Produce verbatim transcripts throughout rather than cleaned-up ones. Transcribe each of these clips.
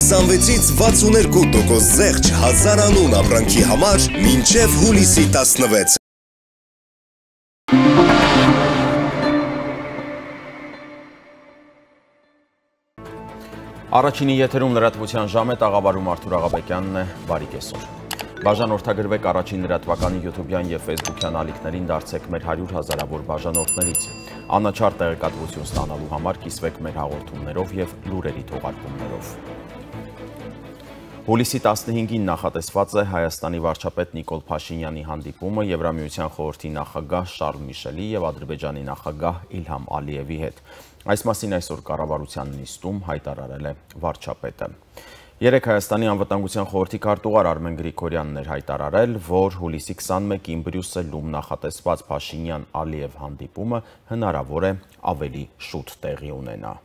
քսանվեցից վաթսուներկու տոկոս զեղչ հազար անուն ապրանքի համար մինչև հուլիսի տասնվեց։ Առաջինի եթերում լրատվության ժամ է, տաղավարում Արթուր Աղաբեկյանն է, բարի կեսօր։ Բաժանորդագրվեք առաջին լրատվականի յութուբյան և ֆեյսբուքյան ալիքներին, դարձեք մեր հարյուր հազարավոր բաժանորդներից։ Անաչառ տեղեկատվություն ստանալու համար կիսվեք մեր հաղորդումներով և լուրերի թողարկումներով։ Հուլիսի տասնհինգին նախատեսված է Հայաստանի վարչապետ Նիկոլ Փաշինյանի հանդիպումը Եվրամիության խորհրդի նախագահ Շարլ Միշելի և Ադրբեջանի նախագահ Իլհամ Ալիևի հետ։ Այս մասին այսօր կառավարության նիստում հայտարարել է վարչապետը։ Երեկ Հայաստանի անվտանգության խորհրդի քարտուղար Արմեն Գրիգորյանն էր հայտարարել, որ հուլիսի քսանմեկին Բրյուսելում նախատեսված Փաշինյան-Ալիև հանդիպումը հնարավոր է ավելի շուտ տեղի ունենա։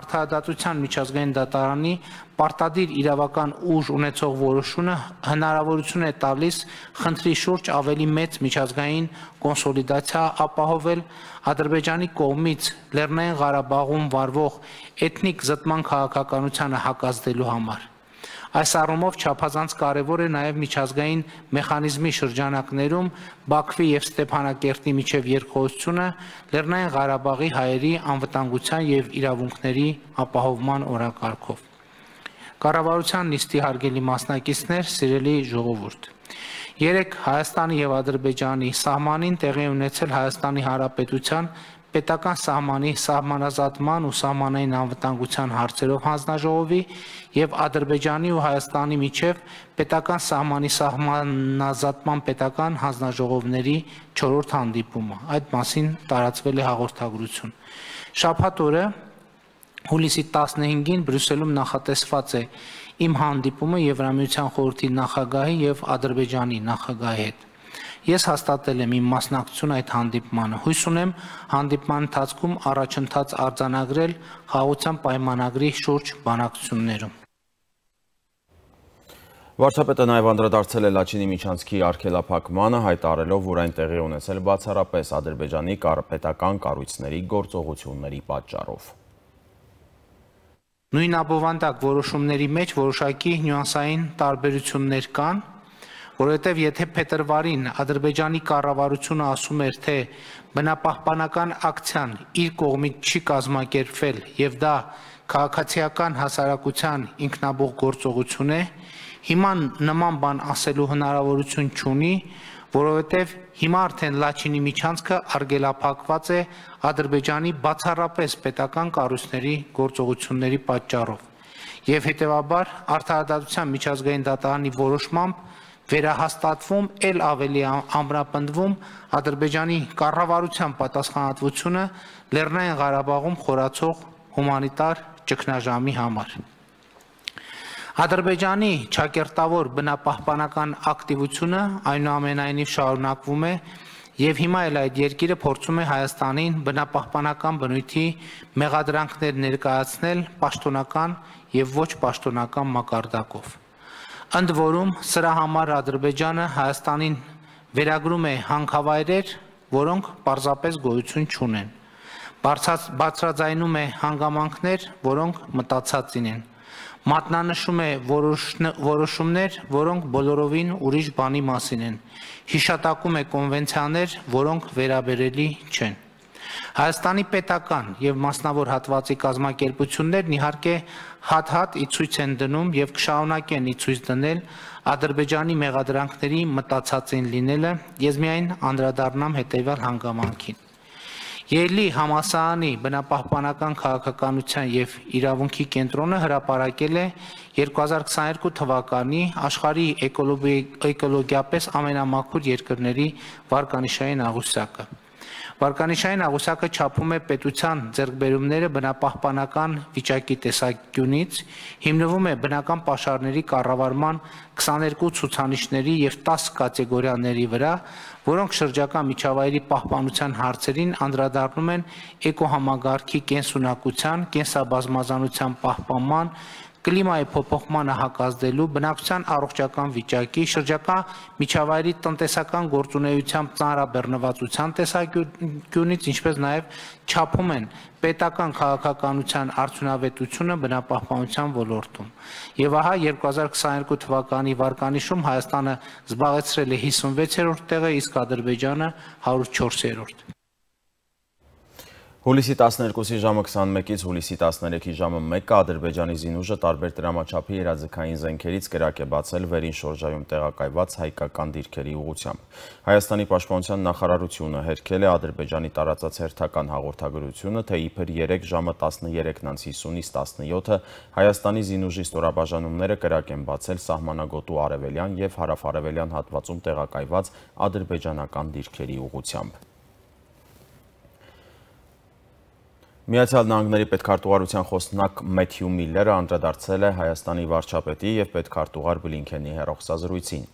Արդարադատության միջազգային դատարանի պարտադիր իրավական ուժ ունեցող որոշումը հնարավորություն է տալիս խնդրի շուրջ ավելի մեծ միջազգային կոնսոլիդացիա ապահովել Ադրբեջանի կողմից Լեռնային Ղարաբաղում վարվող էթնիկ զտման քաղաքականությանը հակազդելու համար։ Այս առումով չափազանց կարևոր է նաև միջազգային մեխանիզմի շրջանակներում Բաքվի և Ստեփանակերտի միջև երկխոսությունը Լեռնային Ղարաբաղի հայերի անվտանգության և իրավունքների ապահովման օրակարգով։ Կառավարության նիստի հարգելի մասնակիցներ, սիրելի ժողովուրդ, երեկ Հայաստանի և Ադրբեջանի սահմանին տեղի ունեցել Հայաստանի Հանրապետության պետական սահմանի սահմանազատման ու սահմանային անվտանգության հարցերով հանձնաժողովի և Ադրբեջանի ու Հայաստանի միջև պետական սահմանի սահմանազատման պետական հանձնաժողովների չորրորդ հանդիպումը։ Այդ մասին տարածվել է հաղորդագրություն։ Շաբաթ օրը հուլիսի տասնհինգին Բրյուսելում նախատեսված է իմ հանդիպումը Եվրամիության խորհրդի նախագահի և Ադրբեջանի նախագահի հետ։ Ես հաստատել եմ իմ մասնակցությունը այդ հանդիպմանը։ Հույս ունեմ հանդիպման ընթացքում առաջընթաց արձանագրել խաղաղության պայմանագրի շուրջ բանակցություններում։ Վարչապետը նաև անդրադարձել է Լաչինի միջանցքի արգելափակմանը, հայտարարելով, որ այն տեղի ունեցել բացառապես Ադրբեջանի պետական կառույցների գործողությունների պատճառով։ Նույն ապովանդակ որոշումների մեջ որոշակի նյուանսային տարբերություններ կան, որովհետև եթե փետրվարին Ադրբեջանի կառավարությունը ասում էր, թե բնապահպանական ակցիան իր կողմից չի կազմակերպվել և դա քաղաքացիական հասարակության ինքնաբուխ գործողություն է, հիմա նման բան ասելու հնարավորություն չունի, որովհետև հիմա արդեն Լաչինի միջանցքը արգելափակված է Ադրբեջանի բացառապես պետական կառույցների գործողությունների պատճառով և հետևաբար Արդարադատության միջազգային դատարանի որոշմամբ վերահաստատվում, էլ ավելի ամրապնդվում Ադրբեջանի կառավարության պատասխանատվությունը Լեռնային Ղարաբաղում խորացող հումանիտար ճգնաժամի համար։ Ադրբեջանի ճակերտավոր բնապահպանական ակտիվությունը այնուամենայնիվ շարունակվում է և հիմա էլ այդ երկիրը փորձում է Հայաստանին բնապահպանական բնույթի մեղադրանքներ ներկայացնել պաշտոնական և ոչ պաշտոնական մակարդակով։ Ընդ որում, սրա համար Ադրբեջանը Հայաստանին վերագրում է հանքավայրեր, որոնք պարզապես գոյություն չունեն, բարձրաձայնում է հանգամանքներ, որոնք մտածածին են, մատնանշում է որոշումներ, որոնք բոլորովին ուրիշ բանի մասին են, հիշատակում է կոնվենցիաներ, որոնք վերաբերելի չեն։ Հայաստանի պետական և մասնավոր հատվածի կազմակերպություններն իհարկե հատ-հատ ի ցույց են դնում և կշարունակեն ի ցույց դնել Ադրբեջանի մեղադրանքների մտածածին լինելը, ես միայն անդրադառնամ հետևյալ հանգամանքին։ Ելլի համալսարանի բնապահպանական քաղաքականության և իրավունքի կենտրոնը հրապարակել է երկու հազար քսաներկու թվականի աշխարհի էկոլոգիապես ամենամաքուր երկրների վարկանիշային աղյուսակը։ Վարկանիշային աղյուսակը չափում է պետության ձեռքբերումները բնապահպանական վիճակի տեսանկյունից, հիմնվում է բնական պաշարների կառավարման քսաներկու ցուցանիշների և տասը կատեգորիաների վրա, որոնք շրջակա միջավայրի պահպանության հարցերին անդրադառնում են էկոհամագարքի կենսունակության, կենսաբազմազանության պահպանման, կլիմայի փոփոխմանը հակազդելու, բնակչության առողջական վիճակի, շրջակա միջավայրի տնտեսական գործունեությամբ ծանրաբեռնվածության տեսանկյունից, ինչպես նաև չափում են պետական քաղաքականության արդյունավետությունը բնապահպանության ոլորտում։ Եվ ահա երկու հազար քսաներկու թվականի վարկանիշում Հայաստանը զբաղեցրել է հիսունվեցերորդ տեղը, իսկ Ադրբեջանը հարյուր չորսերորդ։ Հուլիսի տասներկուսի ժամը քսանմեկից հուլիսի տասներեքի ժամը մեկը Ադրբեջանի զինուժը տարբեր տրամաչափի երազքային զենքերից կրակ է բացել վերին շորժայում տեղակայված հայկական դիրքերի ուղղությամբ։ Հայաստանի պաշտպանության նախարարությունը հերքել է Ադրբեջանի տարածած հերթական հաղորդագրությունը, թե իբր երեք ժամը տասներեքն հիսունից տասնյոթը Հայաստանի զինուժի ստորաբաժանումները կրակ են բացել սահմանագոտու արևելյան եւ հարավ-արևելյան հատվածում տեղակայված ադրբեջանական դիրքերի ուղղությամբ։ Միացյալ Նահանգների պետքարտուղարության խոսնակ Մեթյու Միլլերը անդրադարձել է Հայաստանի վարչապետի եւ պետքարտուղար Բլինքենի հեռախոսազրույցին։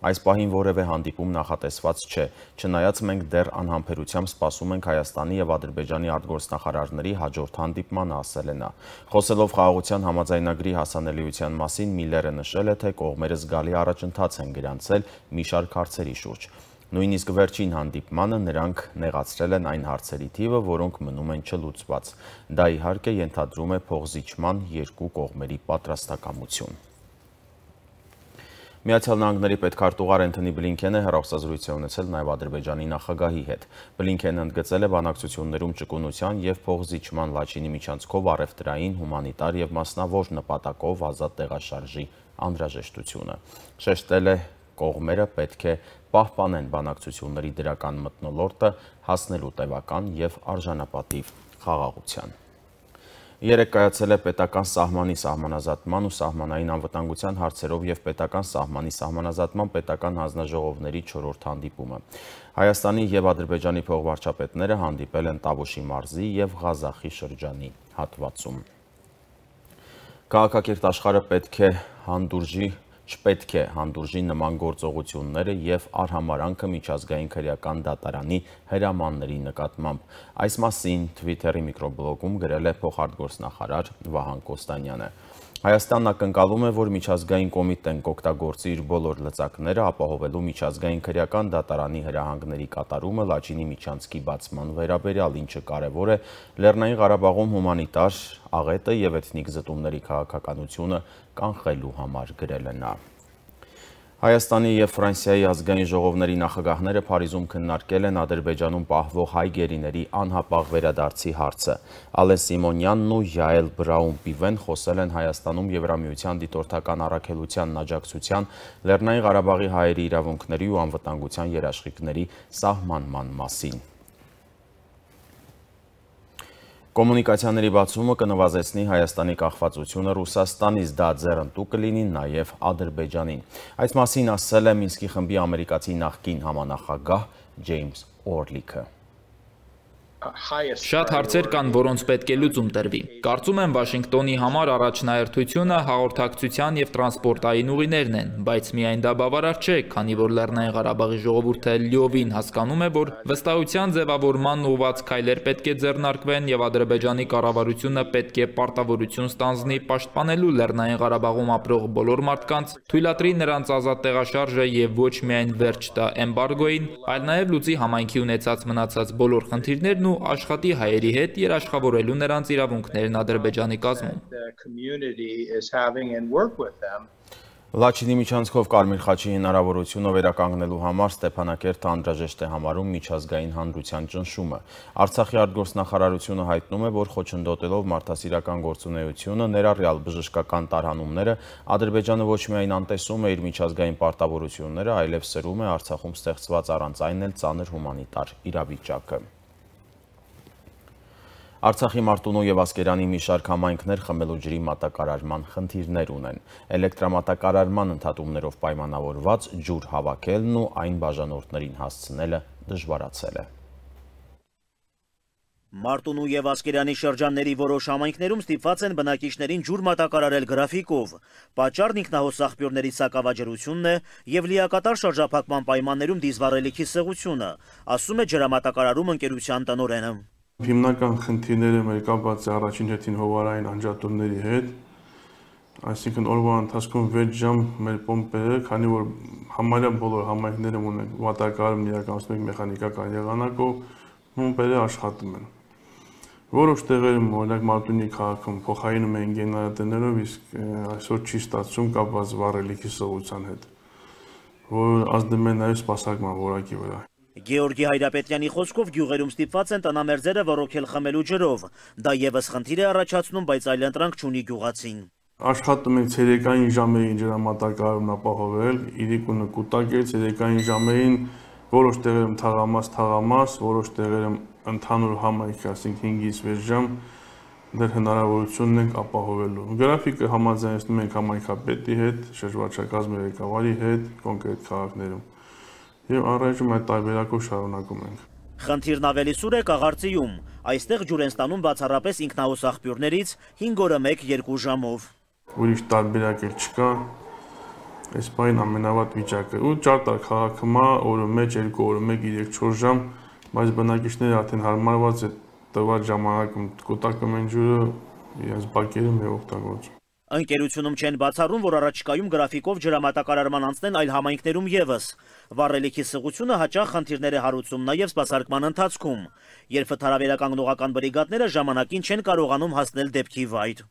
Այս պահին որևէ հանդիպում նախատեսված չէ, չնայած մենք դեռ անհամբերությամբ սպասում ենք Հայաստանի եւ Ադրբեջանի արտգործնախարարների հաջորդ հանդիպմանը, ասել է նա։ Խոսելով խաղաղության համաձայնագրի հասանելիության մասին, Միլլերը նշել է, թե կողմերը զգալի առաջընթաց են գրանցել մի շարք հարցերի շուրջ։ Նույնիսկ վերջին հանդիպմանը նրանք նեղացրել են այն հարցերի թիվը, որոնք մնում են չլուծված։ Դա իհարկե ենթադրում է փոխզիջման երկու կողմերի պատրաստակամություն։ Միացյալ Նահանգների պետքարտուղար Էնթոնի Բլինքենը հեռախոսազրույց է ունեցել նաև Ադրբեջանի նախագահի հետ։ Բլինքենը ընդգծել է բանակցություններում ճկունության եւ փոխզիջման Լաչինի միջանցքով առևտրային, հումանիտար եւ մասնավոր նպատակով ազատ տեղաշարժի անհրաժեշտությունը։ Շեշտել է, կողմերը պետք է պահպանեն բանակցությունների դրական մթնոլորտը, հասնելու տևական եւ արժանապատիվ խաղաղության։ Երեկ կայացել է պետական սահմանի սահմանազատման ու սահմանային անվտանգության հարցերով եւ պետական սահմանի սահմանազատման պետական հանձնաժողովների չորրորդ հանդիպումը։ Հայաստանի եւ Ադրբեջանի փոխվարչապետները հանդիպել են Տավուշի մարզի եւ Ղազախի շրջանի հատվածում։ Քաղաքակիրթ աշխարհը պետք է հանդուրժի Չպետք է հանդուրժի նման գործողությունները եւ արհամարանքը միջազգային քրեական դատարանի հրամանների նկատմամբ։ Այս մասին Twitter-ի միկրոբլոգում գրել է փոխարտգործնախարար Վահան Կոստանյանը։ Հայաստանն ակնկալում է, որ միջազգային կոմիտեն կօգտագործի իր բոլոր լծակները ապահովելու միջազգային քրեական դատարանի հրահանգների կատարումը Լաչինի միջանցքի բացման վերաբերյալ, ինչը կարևոր է Լեռնային Ղարաբաղում հումանիտար աղետը եւ էթնիկ զտումների քաղաքականությունը կանխելու համար, գրել է նա։ Հայաստանի եւ Ֆրանսիայի ազգային ժողովների նախագահները Փարիզում քննարկել են Ադրբեջանում պահվող հայ գերիների անհապաղ վերադարձի հարցը։ Ալեն Սիմոնյանն ու Յաել Բրաուն-Պիվեն խոսել են Հայաստանում Եվրամիության դիտորդական առաքելության աջակցության, Լեռնային Ղարաբաղի հայերի իրավունքների ու անվտանգության երաշխիքների սահմանման մասին։ Կոմունիկացիաների բացումը կնվազեցնի Հայաստանի կախվածությունը Ռուսաստանից, դա ձեռնտու կլինի նաև Ադրբեջանին։ Այս մասին ասել է Մինսկի խմբի ամերիկացի նախկին համանախագահ Ջեյմս Օրլիքը։ Շատ հարցեր կան, որոնց պետք է լուծում տրվի։ Կարծում եմ Վաշինգտոնի համար առաջնահերթությունը հաղորդակցության եւ տրանսպորտային ուղիներն են, բայց միայն դա բավարար չէ, քանի որ Լեռնային Ղարաբաղի ժողովուրդը լիովին հասկանում է, որ վստահության ձևավորման ուղղված քայլեր պետք է ձեռնարկվեն եւ Ադրբեջանի կառավարությունը պետք է պարտավորություն ստանձնի պաշտպանելու Լեռնային Ղարաբաղում ապրող բոլոր մարդկանց, թույլատրի նրանց ազատ տեղաշարժը եւ ոչ միայն վերջ տա էմբարգոին, այլ նաեւ լուծի համայնքի ունեցած մնացած բոլոր խնդիրներն ու աշխատի հայերի հետ երաշխավորելու նրանց իրավունքներն Ադրբեջանի կազմում։ Լաչինի միջանցքով Կարմիր խաչի հնարավորությունը վերականգնելու համար Ստեփանակերտը անհրաժեշտ է համարում միջազգային հանրության ճնշումը։ Արցախի արտգործնախարարությունը հայտնում է, որ խոչընդոտելով մարդասիրական գործունեությունը, ներառյալ բժշկական տարհանումները, Ադրբեջանը ոչ միայն անտեսում է իր միջազգային պարտավորությունները, այլև սրում է Արցախում ստեղծված առանց այն էլ ծանր հումանիտար իրավիճակը։ Արցախի Մարտունու եւ Ասկերանի մի շարք համայնքներ խմելու ջրի մատակարարման խնդիրներ ունեն։ Էլեկտրամատակարարման ընդհատումներով պայմանավորված ջուր հավաքելն ու այն բաժանորդներին հասցնելը դժվարացել է։ Մարտունու եւ Ասկերանի շրջանների որոշ համայնքներում ստիպված են բնակիչներին ջուր մատակարարել գրաֆիկով։ Պատճառն ինքնահոս աղբյուրների սակավաջրությունն է եւ լիակատար շրջափակման պայմաններում դիզվառելիքի սեղությունը, ասում է ջրամատակարարում ընկերության տնօրենը։ Հիմնական խնդիրները մեր կապված է առաջին հերթին հովարային անջատումների հետ, Այսինքն օրվա ընթացքում վեց ժամ մեր պոմպերը, քանի որ համարյա բոլոր համայնքներում ունեն վատակարում իրականացնում են մեխանիկական եղանակով, պոմպերը աշխատում են։ Որոշ տեղերում, օրինակ Մարտունի քաղաքում փոխարինում են գեներատորներով, իսկ այսօր չի ստացվում կապված վառելիքի սղության հետ, որ ազդում է նաև սպասարկման որակի վրա։ Գեորգի Հայրապետյանի խոսքով գյուղերում ստիպված են տնամերձերը ոռոգել խմելու ջրով։ Դա եւս խնդիր է առաջացնում, բայց այլընտրանք չունի գյուղացին։ Աշխատում ենք ցերեկային ժամերին ջրամատակարարումն ապահովել, իրիկունը կուտակել ցերեկային ժամերին, որոշ տեղերում թաղամաս, թաղամաս, որոշ տեղերում ընդհանուր համայնքի, ասենք հինգից վեց ժամ դեռ հնարավորությունն ենք ապահովելու։ Գրաֆիկը համաձայնեցնում ենք համայնքապետի հետ, շրջվարչակազմի ղեկավարի հետ կոնկրետ քաղաքներում։ Եվ առայժմ այդ տարբերակով շարունակում ենք։ Խնդիրն ավելի սուր է Կաղարծիում։ Այստեղ ջուր են ստանում բացառապես ինքնահոս աղբյուրներից հինգ օրը մեկ երկու ժամով։ Ուրիշ տարբերակ էլ չկա։ Այս բան ամենավատ վիճակը։ Ու Ճարտար քաղաքում օրը մեջ երկու օրը մեկ երեք չորս ժամ, բայց բնակիչները արդեն հարմարված է տվյալ ժամանակում կուտակում են ջուրը իրենց բակերում եւ օգտագործում։ Ընկերությունում չեն բացառում, որ առաջիկայում գրաֆիկով ջրամատակարարման անցնեն այլ համայնքներում եւս։ Վառելիքի սղությունը հաճախ խնդիրներ է հարուցում նաև սպասարկման ընթացքում, երբ վթարավերականգնողական բրիգադները ժամանակին չեն կարողանում հասնել դեպքի վայր։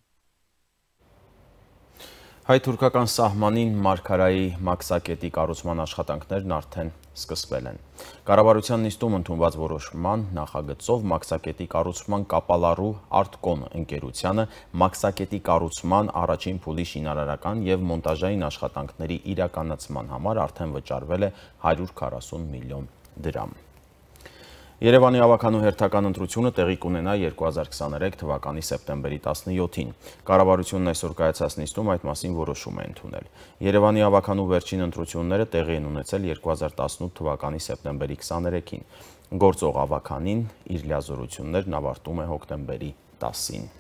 Հայ-թուրքական սահմանին Մարգարայի մաքսակետի կառուցման աշխատանքներն արդեն սկսվել են։ Կառավարության նիստում ընդունված որոշման նախագծով մաքսակետի կառուցման կապալառու Արտկոն ընկերությանը մաքսակետի կառուցման առաջին փուլի շինարարական եւ մոնտաժային աշխատանքների իրականացման համար արդեն վճարվել է հարյուր քառասուն միլիոն դրամ։ Երևանի ավականու հերթական ընտրությունը տեղի կունենա երկու հազար քսաներեք թվականի սեպտեմբերի տասնյոթին։ Կառավարությունն այսօր կայացած նիստում այդ մասին որոշում է ընդունել։ Երևանի ավականու վերջին ընտրությունները տեղի են ունեցել երկու հազար տասնութ թվականի սեպտեմբերի քսաներեքին։ Գործող ավականին իր լիազորություններն ավարտում է հոկտեմբերի տասին։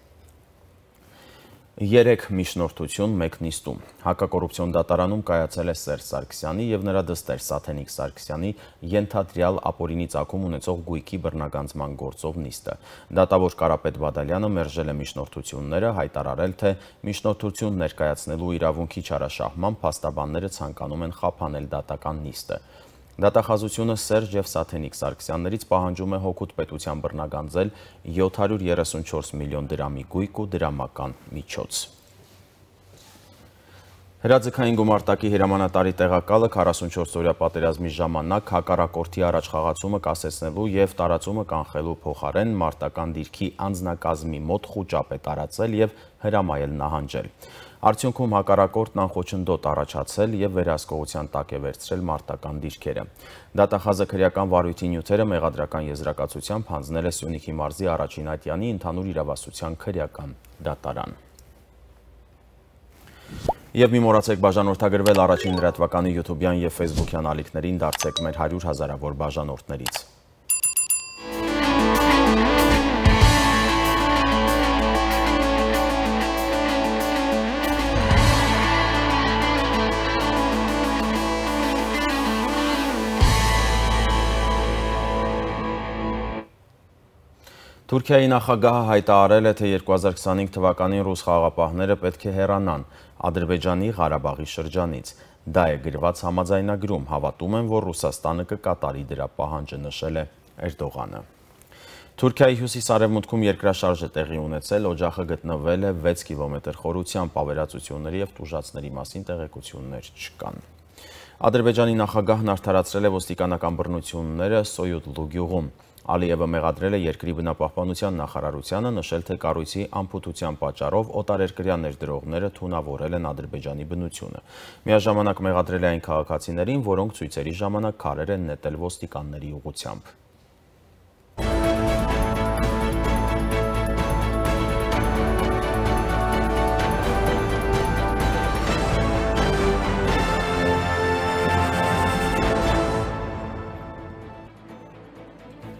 Երեք միջնորդություն մեկ նիստում։ Հակակոռուպցիոն դատարանում կայացել է Սերժ Սարգսյանի եւ նրա դստեր Սաթենիկ Սարգսյանի ենթադրյալ ապօրինի ծագում ունեցող գույքի բռնագանձման գործով նիստը։ Դատավոր Կարապետ Բադալյանը մերժել է միջնորդությունները, հայտարարել, թե միջնորդություն ներկայացնելու իրավունքի չարաշահմամբ փաստաբանները ցանկանում են խափանել դատական նիստը։ Դատախազությունը Սերժ եւ Սաթենիկ Սարգսյաններից պահանջում է հօգուտ պետության բռնագանձել յոթ հարյուր երեսունչորս միլիոն դրամի գույք ու դրամական միջոց։ Հրաձգային գումարտակի հրամանատարի տեղակալը քառասունչորս օրյա պատերազմի ժամանակ հակառակորդի առաջխաղացումը կասեցնելու եւ տարածումը կանխելու փոխարեն մարտական դիրքի անձնակազմի մոտ խուճապ է տարածել եւ հրամայել նահանջել։ Արդյունքում հակառակորդն անխոչնդոտ առաջացել եւ վերահսկողության տակ է վերցրել մարտական դիրքերը։ Դատախազը քրեական վարույթի նյութերը մեղադրական եզրակացությամբ հանձնել է Սյունիքի մարզի առաջին ատյանի ընդհանուր իրավասության քրեական դատարան։ Եվ մի մոռացեք բաժանորդագրվել առաջին լրատվականի յութուբյան եւ ֆեյսբուքյան ալիքներին, դարձեք մեր հարյուր հազարավոր բաժանորդներից։ Թուրքիայի նախագահը հայտարարել է, թե երկու հազար քսանհինգ թվականին ռուս խաղաղապահները պետք է հեռանան Ադրբեջանի Ղարաբաղի շրջանից։ Դա է գրված համաձայնագրում, հավատում են, որ Ռուսաստանը կկատարի դրա պահանջը, նշել է Էրդողանը։ Թուրքիայի հյուսիս-արևմուտքում երկրաշարժ է տեղի ունեցել, օջախը գտնվել է վեց կիլոմետր խորությամբ, ավերածությունների եւ տուժածների մասին տեղեկություններ չկան։ Ադրբեջանի նախագահն արդարացրել է ոստիկանական բռնությունները Սոյուդլու գյուղում։ Ալիևը մեղադրել է երկրի բնապահպանության նախարարությանը, նշել, թե կառույցի անփութության պատճառով օտարերկրյա ներդրողները թունավորել են Ադրբեջանի բնությունը։ Միաժամանակ մեղադրել է այն քաղաքացիներին, որոնք ցույցերի ժամանակ քարեր են նետել ոստիկանների ուղղությամբ։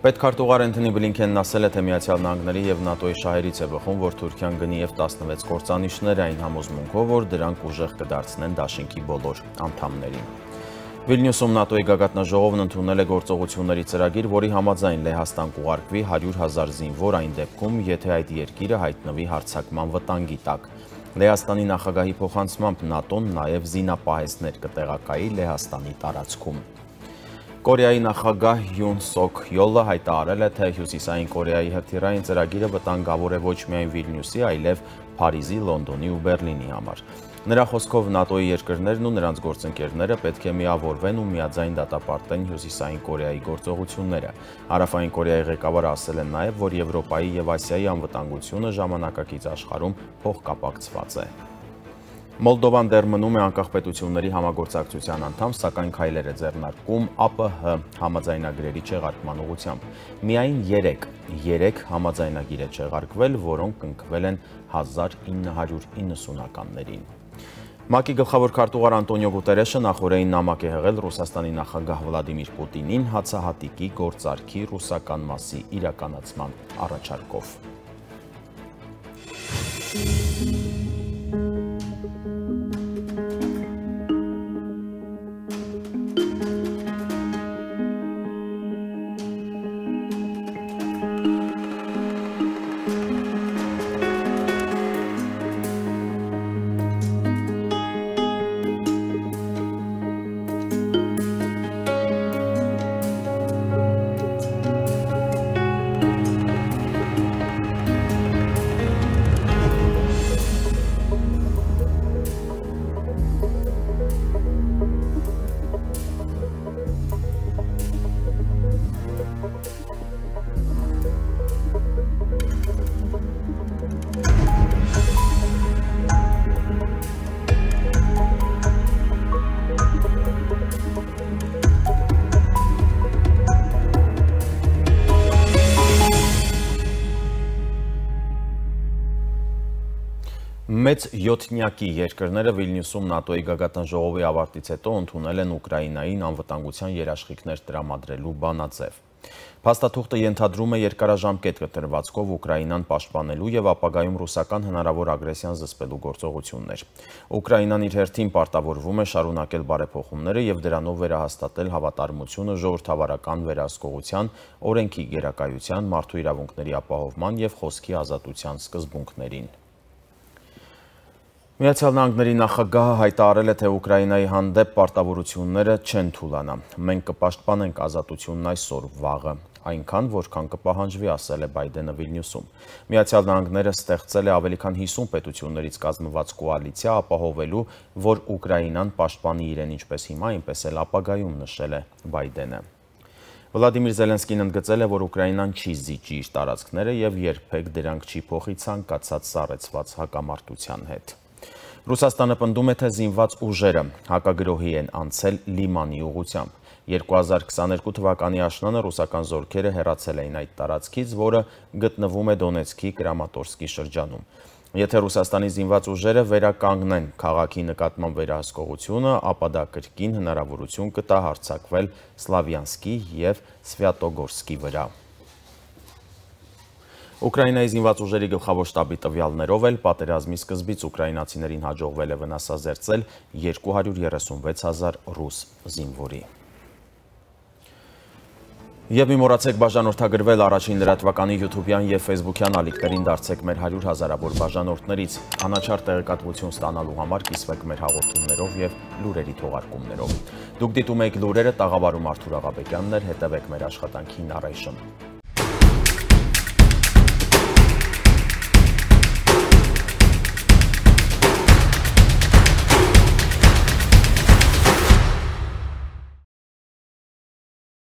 Պետքարտուղար Էնթոնի Բլինքենն ասել է, թե Միացյալ Նահանգների եւ ՆԱՏՕ-ի շահերից է բխում, որ Թուրքիան գնի եւ տասնվեց կործանիչներ, այն համոզմունքով, որ դրանք ուժեղ կդարձնեն դաշինքի բոլոր անդամներին։ Վիլնյուսում ՆԱՏՕ-ի գագաթնաժողովն ընդունել է գործողությունների ծրագիր, որի համաձայն Լեհաստան կուղարկվի հարյուր հազար զինվոր այն դեպքում, եթե այդ երկիրը հայտնվի հարձակման վտանգի տակ։ Լեհաստանի նախագահի փոխանցմամբ ՆԱՏՕ-ն նաև զինապահեսներ կտեղակայի Լեհաստանի տարածքում։ Կորեայի նախագահ Յուն Սոք Յոլը հայտարարել է, թե Հյուսիսային Կորեայի հրթիռային ծրագիրը վտանգավոր է ոչ միայն Վիլնյուսի, այլև Փարիզի, Լոնդոնի ու Բեռլինի համար։ Նրա խոսքով ՆԱՏՕ-ի երկրներն ու նրանց գործընկերները պետք է միավորվեն ու միաձայն դատապարտեն Հյուսիսային Կորեայի գործողությունները։ Հարավային Կորեայի ղեկավարը ասել է նաև, որ Եվրոպայի եւ Ասիայի անվտանգությունը ժամանակակից աշխարհում փոխկապակցված է։ Մոլդովան դեռ մնում է անկախ պետությունների համագործակցության անդամ, սակայն քայլեր է ձեռնարկում ԱՊՀ համաձայնագրերի չեղարկման ուղղությամբ։ Միայն երեք համաձայնագիր է չեղարկվել, որոնք կնքվել են հազար ինը հարյուր իննսունականներին։ ՄԱԿ-ի գլխավոր քարտուղար Անտոնիո Գուտերեշը նախօրեին նամակ է հղել Ռուսաստանի նախագահ Վլադիմիր Պուտինին հացահատիկի գործարքի ռուսական մասի իրականացման առաջարկով։ Մեծ յոթնյակի երկրները Վիլնյուսում ՆԱՏՕ-ի գագաթն ժողովի ավարտից հետո ընդունել են Ուկրաինային անվտանգության երաշխիքներ տրամադրելու բանաձև։ Փաստաթուղթը ենթադրում է երկարաժամկետ կտրվածքով Ուկրաինան պաշտպանելու եւ ապագայում ռուսական հնարավոր ագրեսիան զսպելու գործողություններ։ Ուկրաինան իր հերթին պարտավորվում է շարունակել բարեփոխումները եւ դրանով վերահաստատել հավատարմությունը ժողովրդավարական վերահսկողության, օրենքի գերակայության, մարդու իրավունքների ապահովման եւ խոսքի ազատության սկզբունքներին։ Միացյալ Նահանգների նախագահը հայտարարել է, թե Ուկրաինայի հանդեպ պարտավորությունները չեն թուլանա։ Մենք կպաշտպանենք ազատությունն այսօր, վաղը, այնքան, որքան կպահանջվի, ասել է Բայդենը Վիլնյուսում։ Միացյալ Նահանգները ստեղծել է ավելի քան հիսուն պետություններից կազմված կոալիցիա, ապահովելու, որ Ուկրաինան պաշտպանի իրեն ինչպես հիմա, այնպես էլ ապագայում, նշել է Բայդենը։ Վլադիմիր Զելենսկին ընդգծել է, որ Ուկրաինան չի զիջի իր տարածքները եւ երբեք դրանք չի փոխի ցանկացած սառեցված հակամարտության հետ։ Ռուսաստանը պնդում է, թե զինված ուժերը հակագրոհի են անցել Լիմանի ուղղությամբ։ երկու հազար քսաներկու թվականի աշնանը ռուսական զորքերը հեռացել էին այդ տարածքից, որը գտնվում է Դոնեցկի Կրամատորսկի շրջանում։ Եթե Ռուսաստանի զինված ուժերը վերականգնեն քաղաքի նկատմամբ վերահսկողությունը, ապա դա կրկին հնարավորություն կտա հարձակվել Սլավյանսկի եւ Սվյատոգորսկի վրա։ Ուկրաինայի զինված ուժերի գլխավոր շտաբի տվյալներով էլ պատերազմի սկզբից ուկրաինացիներին հաջողվել է վնասազերծել երկու հարյուր երեսունվեց հազար ռուս զինվորի։ Եվ մի մոռացեք բաժանորդագրվել առաջին լրատվականի յութուբյան եւ ֆեյսբուքյան ալիքներին, դարձեք մեր հարյուր հազարավոր բաժանորդներից, անաչառ տեղեկատվություն ստանալու համար կիսվեք մեր հաղորդումներով եւ լուրերի թողարկումներով։ Դուք դիտում եք լուրերը, տաղավարում Արթուր Աղաբեկյանն էր, հետևեք մեր աշխատանքին առայժմ։